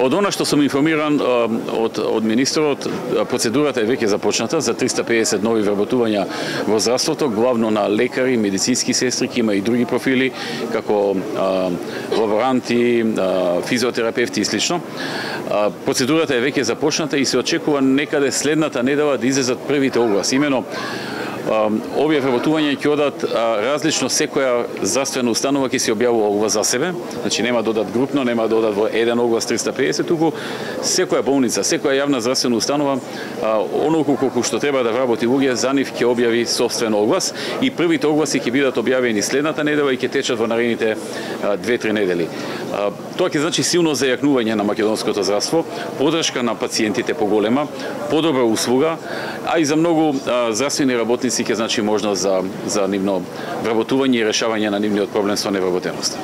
Од она што сум информиран од министерот, процедурата е веќе започната за 350 нови вработувања во здравството, главно на лекари, медицински сестри, има и други профили, како лаборанти, физиотерапевти и слично. Процедурата е веќе започната и се очекува некаде следната недела да излезат првите огласи. Имено овие вработувања ќе одат различно, секоја здравствена установа ќе се објавува оглас за себе, значи нема да одат групно, нема да одат во еден оглас 350, туку секоја болница, секоја јавна здравствена установа, онолку колку што треба да вработи луѓе, за нив ќе објави собствен оглас и првите огласи ќе бидат објавени следната недела и ќе течат во наредните 2-3 недели. Тоа ќе значи силно зајакнување на македонското здравство, поддршка на пациентите поголема, подобра услуга, а и за многу здравствени работници ќе значи можност за нивно вработување и решавање на нивниот проблем со невработеност.